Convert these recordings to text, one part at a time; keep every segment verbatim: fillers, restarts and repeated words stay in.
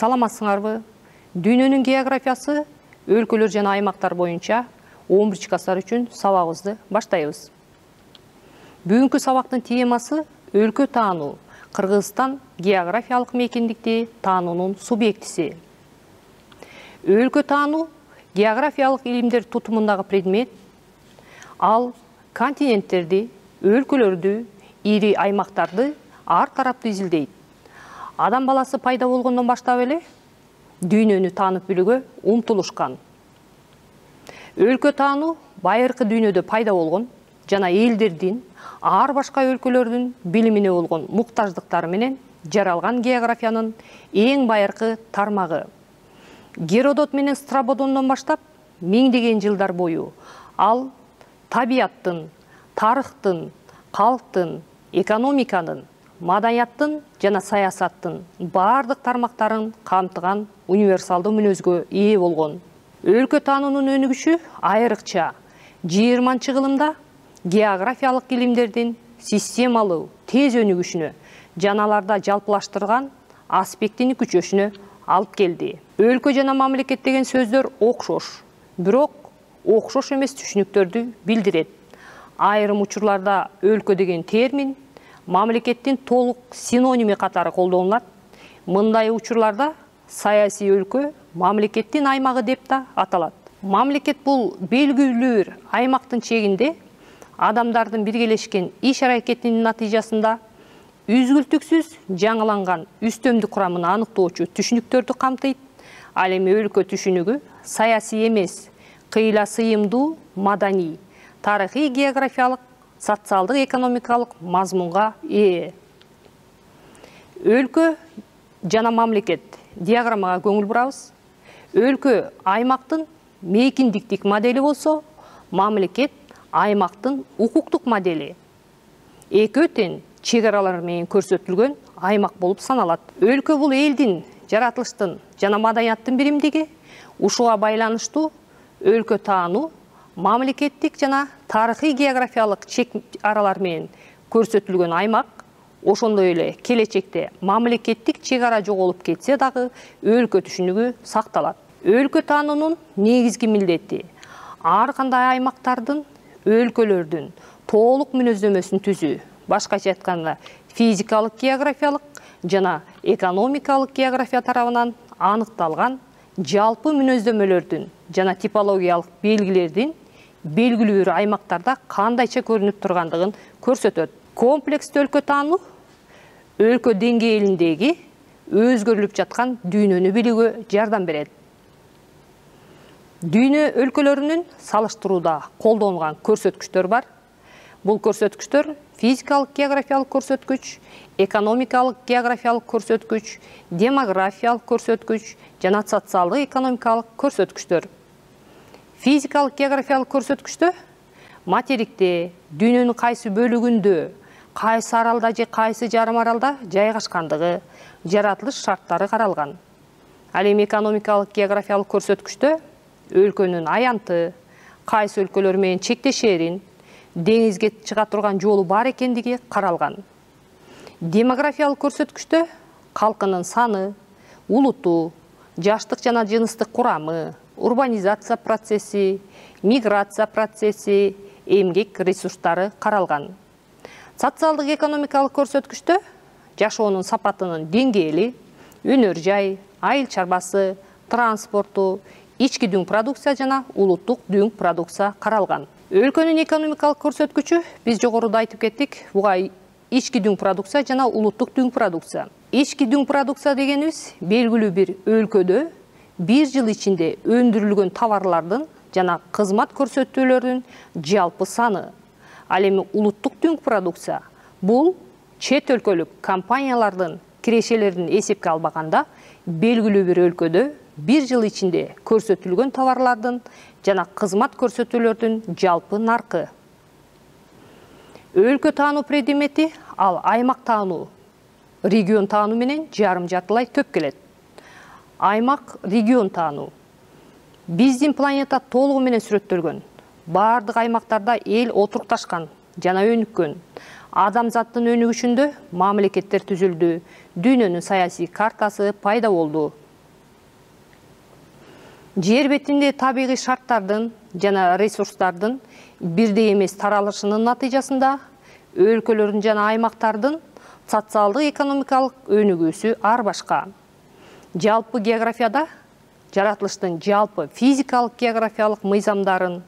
Саламатсыңарбы? Дүйнөнүн географиясы өлкөлөр жана аймактар боюнча он биринчи класстар үчүн сабагыбызды баштайбыз. Бүгүнкү сабактын темасы өлкө таануу. Кыргызстан географиялык мейкиндикти таануунун субъектиси. Өлкө таануу географиялык илимдер тутумундагы предмет. Ал континенттерди, өлкөлөрдү, ири аймактарды ар тараптуу изилдейт. Адам баласы пайда болгондон баштап эле дүйнөнү таанып билүүгө умтулушкан. Өлкө таануу байыркы дүйнөдө пайда болгон жана элдердин ар башка өлкөлөрдүн билимине болгон муктаждыктары менен жаралган географиянын эң байыркы тармагы. Геродот менен Страбодондон баштап миңдеген жылдар бою ал табияттын, тарыхтын, калктын, экономиканын, маданияттын жана саясаттын бардык тармактарын камтыган универсалдуу мүнөзгө ээ болгон. Өлкө таануунун өнүгүшү айрыкча жыйырманчы кылымда географиялык илимдердин системалуу, тез өнүгүшүнө жана аларда жалпылаштырган аспектини күчөшүнө алып келди. Өлкө жана мамлекет деген сөздөр окшош, бирок окшош эмес түшүнүктөрдү билдирет. Айрым учурларда өлкө деген термин мамлекеттин толук синоними катары колдонулат. Мындай учурларда саясий өлкө мамлекеттин аймагы деп да аталат. Мамлекет бул белгилүү бир аймактын чегинде адамдардын биргелешкен иш-аракетинин натыйжасында үзгүлтүксүз жаңыланган үстөмдүк курамын аныктоочу түшүнүктөрдү камтыйт. Ал эми өлкө түшүнүгү саясий эмес, кыйла сыйымдуу маданий, тарыхый, географиялык, социалдык, экономикалык мазмунга ээ. Өлкө жана мамлекет диаграммага көңүл бурабыз. Өлкө аймактын мейкиндиктик модели болсо, мамлекет аймактын укуктук модели. Экөө тең чек аралар менен көрсөтүлгөн аймак болуп саналат. Өлкө бул элдин, жаратылыштын жана маданияттын биримдиги. Ушуга байланыштуу өлкө таануу мамлекеттик жана тарыхый географиялык чек аралар менен көрсөтүлгөн аймак. Ошондой эле келечекте мамлекеттик чек ара жоголуп кетсе дагы өлкө түшүнүгү сакталат. Өлкө таануунун негизги милдети ар кандай аймактардын, өлкөлөрдүн толук мүнөздөмөсүн түзүү. Башкача айтканда, физикалык географиялык жана экономикалык география тарабынан аныкталган жалпы мүнөздөмөлөрдүн жана типологиялык белгилердин белгилүү бир аймактарда кандайча көрүнүп тургандыгын көрсөтөт. Комплекстүү өлкө таануу өлкө деңгээлиндеги өзгөрүлүп жаткан дүйнөнү билүүгө жардам берет. Дүйнө өлкөлөрүнүн салыштырууда колдонулган көрсөткүчтөр бар. Бул көрсөткүчтөр физикалык географиялык көрсөткүч, экономикалык географиялык көрсөткүч, демографиялык көрсөткүч жана социалдык экономикалык көрсөткүчтөр. Физикалык географиялык көрсөткүчтө материкте, дүйнөнүн кайсы бөлүгүндө, кайсы аралда же кайсы жарым аралда жайгашкандыгы, жаратылыш шарттары каралган. Ал эми экономикалык географиялык көрсөткүчтө өлкөнүн аянты, кайсы өлкөлөр менен чектешерин, деңизге чыга турган жолу бар экендиги каралган. Демографиялык көрсөткүчтө калкынын саны, улуту, жаштык жана жыныстык курамы, урбанизация процесси, миграция процесси, эмгек ресурстары каралган. Социалдык экономикалык көрсөткүчтө жашоонун сапатынын деңгээли, өнөр жай, айыл чарбасы, транспорту, ички дүң продукция жана улуттук дүң продукция каралган. Өлкөнүн экономикалык көрсөткүчү биз жогоруда айтып кеттик, буга ички дүң продукция жана улуттук дүң продукция. Ички дүң продукция дегенибиз белгилүү бир өлкөдө бир жыл ичинде өндүрүлгөн товарлардын жана кызмат көрсөтүүлөрдүн жалпы саны. Ал эми улуттук дүң продукция бул чет өлкөлүк компаниялардын кирешелерин эсепке албаганда белгилүү бир өлкөдө бир жыл ичинде көрсөтүлгөн товарлардын жана кызмат көрсөтүүлөрдүн жалпы наркы. Өлкө таануу предмети ал аймак таануу, регион таануу менен жарым жартылай төп келет. Аймак, регион таануу. Биздин планета толугу менен сүрөттөлгөн. Бардык аймактарда эл отурукташкан жана өнүккөн. Адамзаттын өнүгүшүндө мамлекеттер түзүлдү, дүйнөнүн саясий картасы пайда болду. Жер бетинде табигый шарттардын жана ресурстардын бирдей эмес таралышынын натыйжасында өлкөлөрдүн жана аймактардын социалдык экономикалык өнүгүүсү ар башка. Жалпы географияда жаратылыштын жалпы физикалык географиялык мыйзамдарын,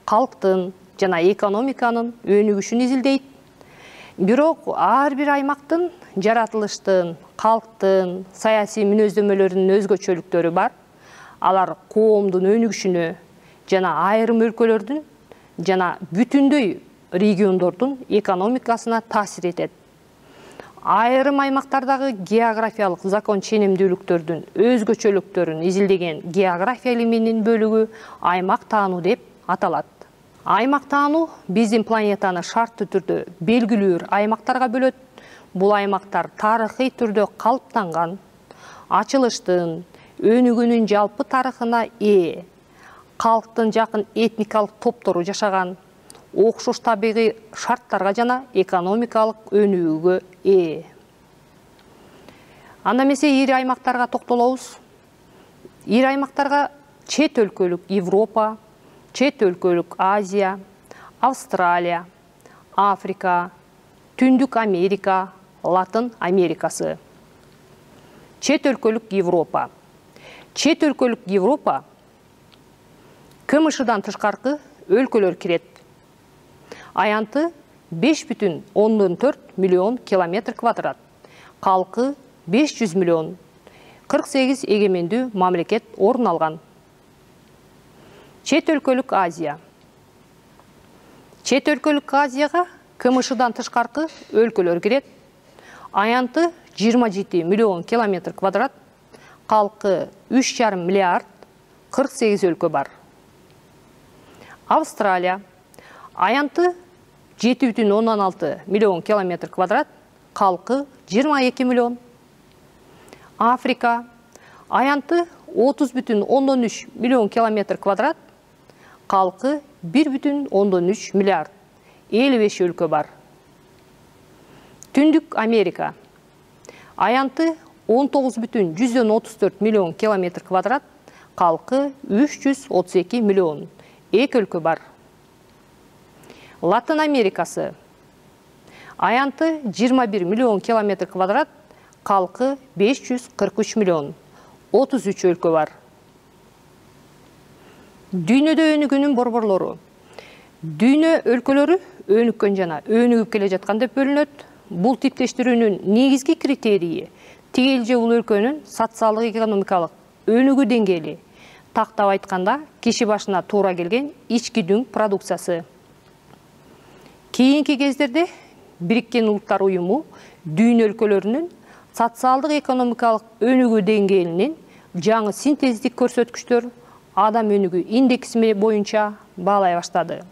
калктын жана экономиканын өнүгүшүн изилдейт. Бирок ар бир аймактын жаратылыштын, калктын, саясий мүнөздөмөлөрүнүн өзгөчөлүктөрү бар. Алар коомдун өнүгүшүнө жана айрым өлкөлөрдүн жана бүтүндөй региондордун экономикасына таасир этет. Айрым аймактардагы географиялык закон ченемдүүлүктөрдүн өзгөчөлүктөрүн изилдеген география илиминин бөлүгү аймак таануу деп аталат. Аймак таануу биздин планетаны шарттуу түрдө белгилүү аймактарга бөлөт. Бул аймактар тарыхый түрдө калыптанган, ачылыштын, өнүгүүнүн жалпы тарыхына ээ, калктын жакын этникалык топтору жашаган, окшош табигый шарттарга жана экономикалык өнүгүүгө ээ. Анда эмесе ири аймактарга токтолобуз. Ири аймактарга чет өлкөлүк Европа, чет өлкөлүк Азия, Австралия, Африка, Түндүк Америка, Латын Америкасы. Чет өлкөлүк Европа. Чет өлкөлүк Европа КМШдан тышкаркы өлкөлөр кирет. Аянты беш бүтүн ондон төрт миллион километр квадрат. Калкы беш жүз миллион. кырк сегиз эгемендүү мамлекет орун алган. Чет өлкөлүк Азия. Чет өлкөлүк Азияга КМШдан тышкаркы өлкөлөр кирет. Аянты жыйырма жети миллион километр квадрат. Калкы үч жарым миллиард, кырк сегиз өлкө бар. Австралия. Аянты жети бүтүн ондон алты миллион километр квадрат, калкы жыйырма эки миллион. Африка. Аянты отуз бүтүн ондон үч миллион километр квадрат, калкы бир бүтүн ондон үч миллиард, элүү беш өлкө бар. Түндүк Америка. Аянты он тогуз бүтүн жүздөн отуз төрт миллион километр квадрат, калкы үч жүз отуз эки миллион, эки өлкө бар. Латын Америкасы. Аянты жыйырма бир миллион километр квадрат, калкы беш жүз кырк үч миллион, отуз үч өлкө бар. Дүйнөдө өнүгүүнүн борборлору. Дүйнө өлкөлөрү өнүккөн жана өнүгүп келе жаткан деп бөлүнөт. Бул типтештирүүнүн негизги критерийи тигил же бул өлкөнүн социалдык экономикалык өнүгүү деңгээли. Тактап айтканда, киши башына туура келген ички дүң продукциясы. Кийинки кездерде Бириккен Улуттар Уюму дүйнө өлкөлөрүнүн социалдык экономикалык өнүгүү деңгээлинин жаңы синтездик көрсөткүчтөр адам өнүгүү индекси боюнча баалай баштады.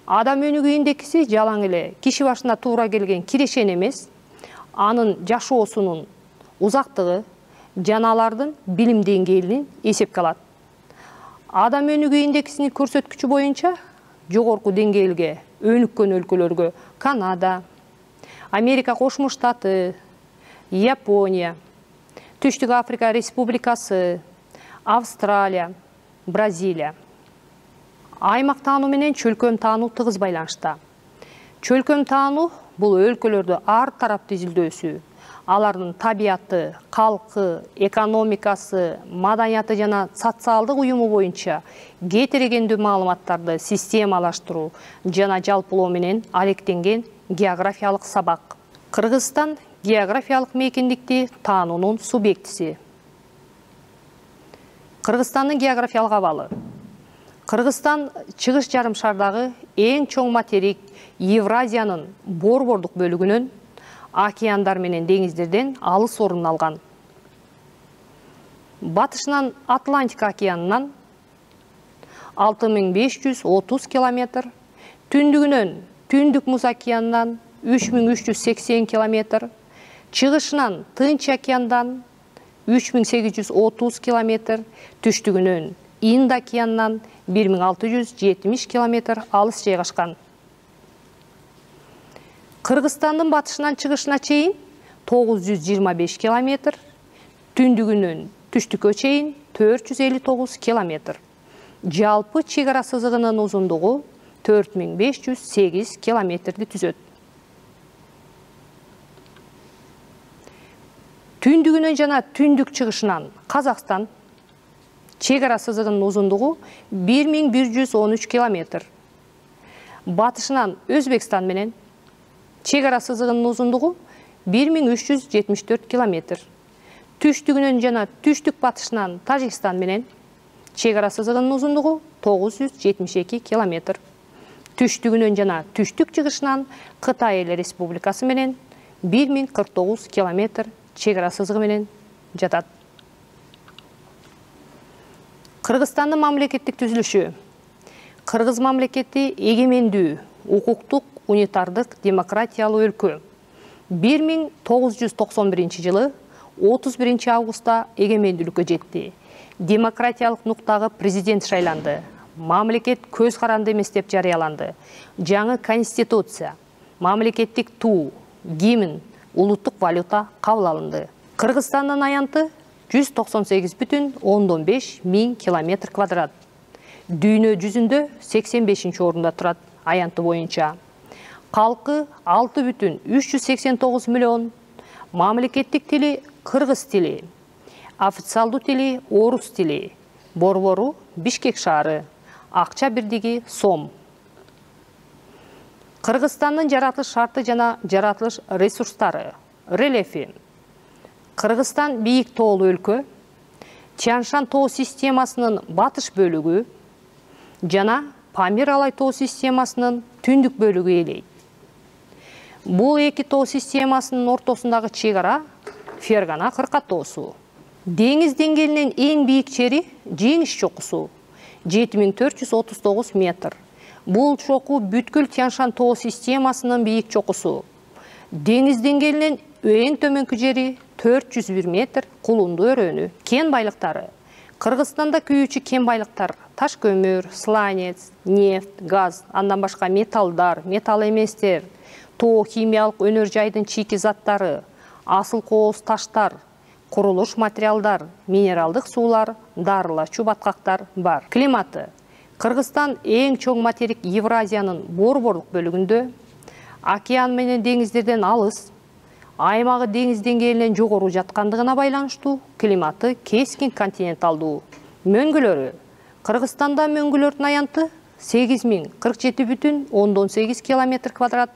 Адам өнүгүү индекси жалаң эле киши башына туура келген кирешен эмес, анын жашоосунун узактыгы жана алардын билим деңгээлин эсепке алат. Адам өнүгүү индексинин көрсөткүчү боюнча жогорку деңгээлге өнүккөн өлкөлөргө Канада, Америка Кошмо Штаты, Япония, Түштүк Африка Республикасы, Австралия, Бразилия. Аймак таануу менен чөлкөм таануу тыгыз байланышта. Чөлкөм таануу бул өлкөлөрдө ар тараптуу изилдөөсү, алардын табияты, калкы, экономикасы, маданияты жана социалдык уюму боюнча кетирегендүү маалыматтарды системалаштыруу жана жалпылоо менен алектенген географиялык сабак. Кыргызстан географиялык мейкиндикти таануунун субъектиси. Кыргызстандын географиялык абалы. Кыргызстан чыгыш жарым шардагы эң чоң материк Евразиянын борбордук бөлүгүнөн океандар менен деңиздерден алыс орун алган. Батышынан Атлантика океанынан алты миң беш жүз отуз километр, түндүгүнөн Түндүк муз океанынан үч миң үч жүз сексен километр, чыгышынан Тынч океандан үч миң сегиз жүз отуз километр, түштүгүнөн Инд океанынан бир миң алты жүз жетимиш километр алыс жайгашкан. Кыргызстандын батышынан чыгышына чейин тогуз жүз жыйырма беш километр, түндүгүнөн түштүккө чейин төрт жүз элүү тогуз километр. Жалпы чек ара сызыгынын узундугу төрт миң беш жүз сегиз километрди түзөт. Түндүгүнөн жана түндүк чыгышынан Казакстан чек ара сызыгынын узундугу бир миң бир жүз он үч километр. Батышынан Өзбекстан менен чек ара сызыгынын узундугу бир миң үч жүз жетимиш төрт километр. Түштүгүнөн жана түштүк батышынан Тажикстан менен чек ара сызыгынын узундугу тогуз жүз жетимиш эки километр. Түштүгүнөн жана түштүк чыгышынан Кытай Эл Республикасы менен бир миң кырк тогуз километр чек ара сызыгы менен жатат. Кыргызстандын мамлекеттик түзүлүшү. Кыргыз мамлекети эгемендүү, укуктук, унитардык, демократиялуу өлкө. бир миң тогуз жүз токсон биринчи жылы отуз биринчи августта эгемендүүлүккө жетти. Демократиялык нуктагы президент шайланды. Мамлекет көз каранды эмес деп жарыяланды. Жаңы конституция, мамлекеттик туу, гимн, улуттук валюта кабыл алынды. Кыргызстандын аянты жүз токсон сегиз бүтүн ондон беш миң километр квадрат. Дүйнө жүзүндө сексен бешинчи орунда турат аянты боюнча. Калкы алты бүтүн үч жүз сексен тогуз миллион. Мамлекеттик тили кыргыз тили. Официалдуу тили орус тили. Борбору Бишкек шаары. Акча бирдиги сом. Кыргызстандын жаратылыш шарты жана жаратылыш ресурстары. Рельефи. Кыргызстан бийик тоолуу өлкө. Тянь-Шань тоо системасынын батыш бөлүгү жана Памир-Алай тоо системасынын түндүк бөлүгү ээлейт. Бул эки тоо системасынын ортосундагы чек ара Фергана кырка тоосу. Деңиз деңгээлинен эң бийик жери Жеңиш чокусу жети миң төрт жүз отуз тогуз метр. Бул чоку бүткүл Тянь-Шань тоо системасынын бийик чокусу. Деңиз деңгээлинен эң төмөнкү жери төрт жүз бир метр кулунду өрөөнү. Кен байлыктары. Кыргызстанда күйүүчү кен байлыктар таш көмүр, сланец, нефть, газ, андан башка металлдар, металл эместер, тоо химиялык өнөр жайдын чийки заттары, асыл кооз таштар, курулуш материалдар, минералдык суулар, дарылачу баткактар бар. Климаты. Кыргызстан эң чоң материк Евразиянын борборлук бөлүгүндө, океан менен деңиздерден алыс, аймагы деңиз деңгээлинен жогору жаткандыгына байланыштуу климаты кескин континенталдуу. Мөңгүлөрү. Кыргызстанда мөңгүлөрдүн аянты сегиз миң кырк жети бүтүн ондон сегиз километр квадрат.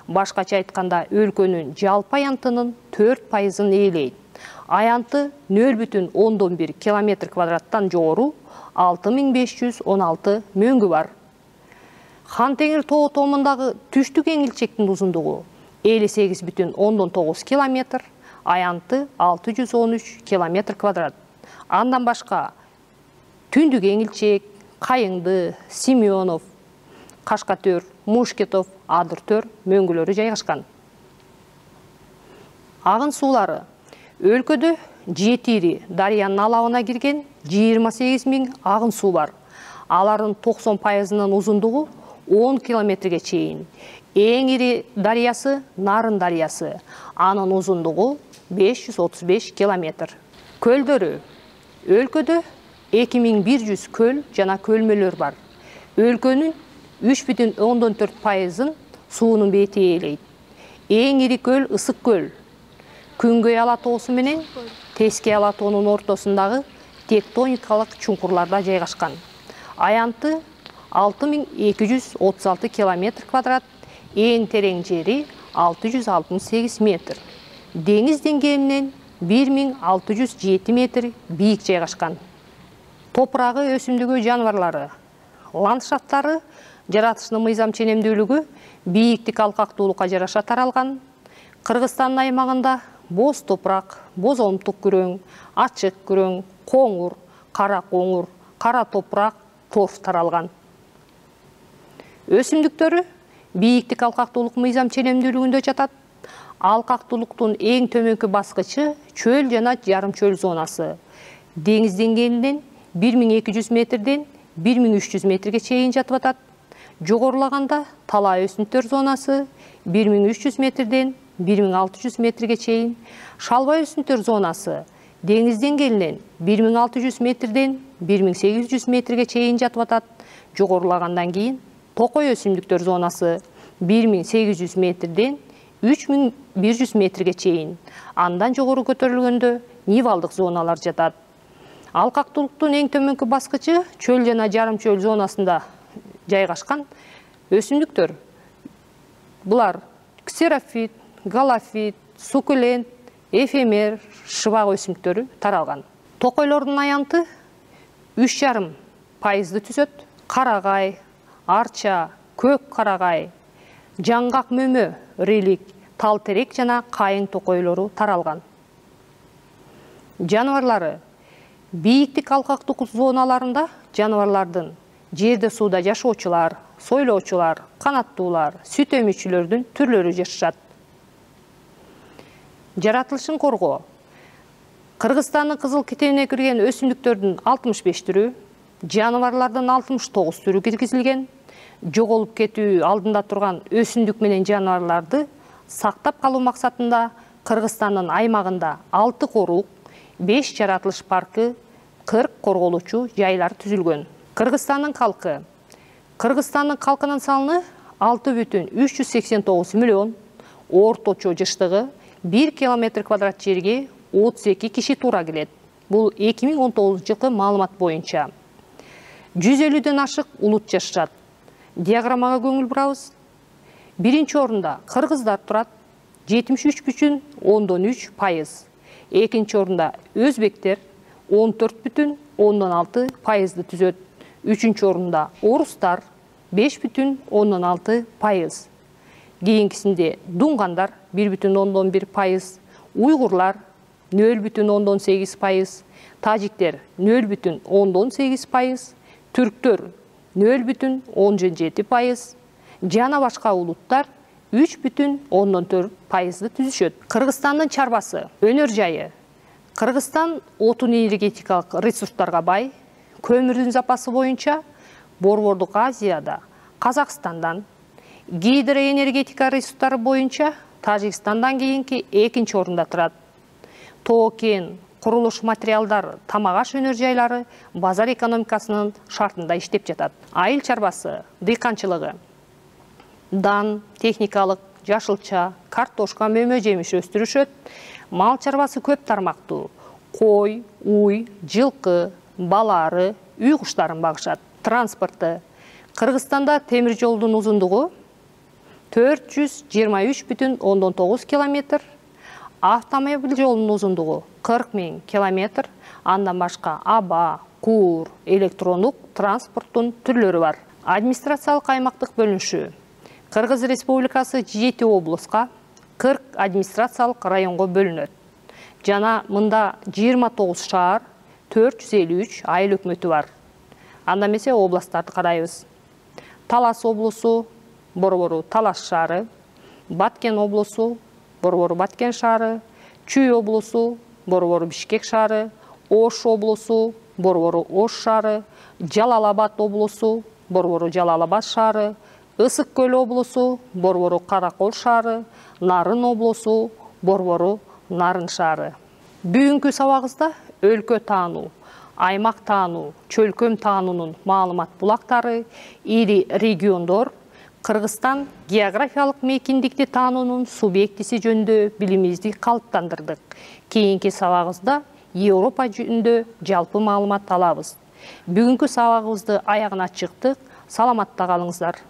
Башкача айтканда өлкөнүн жалпы аянтынын төрт пайызын ээлейт. Аянты нөл бүтүн ондон бир километр квадраттан жогору алты миң беш жүз он алты мөңгү бар. Хан Теңир тоо томундагы түштүк эңилчектин узундугу элүү сегиз бүтүн ондон тогуз километр, аянты алты жүз он үч километр квадрат. Андан башка түндүк эңилчек, Кайыңды, Семенов, Кашкатөр, Мушкетов, Адыр-төр мөңгүлөрү жайгашкан. Агын суулары. Өлкөдө Жетири дарыянын алабына кирген жыйырма сегиз миң агын суу бар. Алардын токсон пайызынын узундугу он километрге чейин. Эң ири дарыясы Нарын дарыясы. Анын узундугу беш жүз отуз беш километр. Көлдөрү. Өлкөдө эки миң бир жүз көл жана көлмөлөр бар. Өлкөнүн үч бүтүн ондон төрт пайызын суунун бети ээлейт. Эң ири көл Ысык көл. Күнгөй ала тоосу менен Теске ала тоонун ортосундагы тектоникалык чуңкурларда жайгашкан. Аянты алты миң эки жүз отуз алты километр квадрат, эң терең жери алты жүз алтымыш сегиз метр. Деңиз деңгээлинен бир миң алты жүз жети метр бийик жайгашкан. Топурагы, өсүмдүгү, жаныбарлары. Ландшафттары жаратылышынын мыйзам ченемдүүлүгү бийиктик алкактуулукка жараша таралган. Кыргызстандын аймагында боз топурак, боз омтук күрөң, ачык күрөң, коңур, кара коңур, кара топурак, торф таралган. Өсүмдүктөрү бийиктик алкактуулук мыйзам ченемдүүлүгүндө жатат. Алкактуулуктун эң төмөнкү баскычы чөл жана жарым чөл зонасы. Деңиз деңгээлинен бир миң эки жүз метрден бир миң үч жүз метрге чейин жатып атат. Жогорулаганда талаа өсүмдүктөр зонасы бир миң үч жүз метрден бир миң алты жүз метрге чейин, шалбай өсүмдүктөр зонасы Деңиз деңгээлинен бир миң алты жүз метрден бир миң сегиз жүз метрге чейин жатып атат. Жогорулагандан кийин токой өсүмдүктөр зонасы бир миң сегиз жүз метрден үч миң бир жүз метрге чейин. Андан жогору көтөрүлгөндө нивалдык зоналар жатат. Алкактуулуктун эң төмөнкү баскычы чөл жана жарым чөл зонасында жайгашкан өсүмдүктөр. Булар ксерофит, галофит, суккулент, эфемер, шыбак өсүмдүктөрү таралган. Токойлордун аянты үч жарым пайызды түзөт. Карагай, арча, көк карагай, жаңгак мөмө, релик, тал терек жана кайың токойлору таралган. Жаныбарлары бийиктик алкактык зоналарында жаныбарлардын жерде сууда жашоочулар, сойлоочулар, канаттуулар, сүт эмүүчүлөрдүн түрлөрү жашашат. Жаратылышын коргоо. Кыргызстандын кызыл китебине кирген өсүмдүктөрдүн алтымыш беш түрү, жаныбарлардын алтымыш тогуз түрү киргизилген. Жоголуп кетүү алдында турган өсүмдүк менен жаныбарларды сактап калуу максатында Кыргызстандын аймагында алты корук, беш жаратылыш паркы, кырк корголуучу жайлар түзүлгөн. Кыргызстандын калкы. Кыргызстандын калкынын саны алты бүтүн үч жүз сексен тогуз миллион, орточо жыштыгы бир километр квадрат жерге отуз эки киши туура келет. Бул эки миң он тогузунчу жылкы маалымат боюнча. жүз элүүдөн ашык улут жашашат. Диаграммага көңүл бурабыз. Биринчи орунда кыргыздар турат, жетимиш үч бүтүн ондон үч пайыз. Экинчи орунда өзбектер он төрт бүтүн ондон алты пайызды түзөт. Үчүнчү орунда орустар беш бүтүн ондон алты пайыз. Кийинкисинде дунгандар бир бүтүн ондон бир пайыз, уйгурлар нөл бүтүн ондон сегиз пайыз, тажиктер нөл бүтүн ондон сегиз пайыз, түрктөр нөл бүтүн ондон жети пайыз, жана башка улуттар үч бүтүн ондон төрт пайызды түзүшөт. Кыргызстандын чарбасы, өнөр жайы. Кыргызстан отун энергетикалык ресурстарга бай. Көмүрдүн запасы боюнча Борбордук Азияда Казакстандан, гидроэнергетика ресурстары боюнча Тажикстандан кийинки экинчи орунда турат. Тоо-кен, курулуш материалдар, тамак аш өнөр жайлары базар экономикасынын шартында иштеп жатат. Айыл чарбасы, дыйканчылыгы. Дан, техникалык, жашылча, картошка, мөмө жемиш өстүрүшөт. Мал чарбасы көп тармактуу. Кой, уй, жылкы, балары, үй куштарын багышат. Транспорты. Кыргызстанда темир жолдун узундугу төрт жүз жыйырма үч бүтүн ондон тогуз километр, автомобиль жолунун узундугу кырк миң километр, андан башка аба, куур, электрондук транспорттун түрлөрү бар. Администрациялык аймактык бөлүнүшү. Кыргыз Республикасы жети облуска, кырк администрациялык районго бөлүнөт. Жана мында жыйырма тогуз шаар, төрт жүз элүү үч айыл өкмөтү бар. Анда эмесе областтарды карайбыз. Талас облусу, борбору Талас шаары, Баткен облусу, борбору Баткен шаары, Чүй облусу, борбору Бишкек шаары, Ош облусу, борбору Ош шаары, Жалал-Абад облусу, борбору Жалал-Абад шаары, Ысык көл облусу, борбору Каракол шаары, Нарын облусу, борбору Нарын шаары. Бүгүнкү сабагыбызда өлкө таануу, аймак таануу, чөлкөм таануунун маалымат булактары, ири региондор, Кыргызстан географиялык мейкиндикти таануунун субъектиси жөнүндө билимибизди калыптандырдык. Кийинки сабагыбызда Европа жөнүндө жалпы маалымат алабыз. Бүгүнкү сабагыбызды аягына чыктык. Саламатта калыңыздар.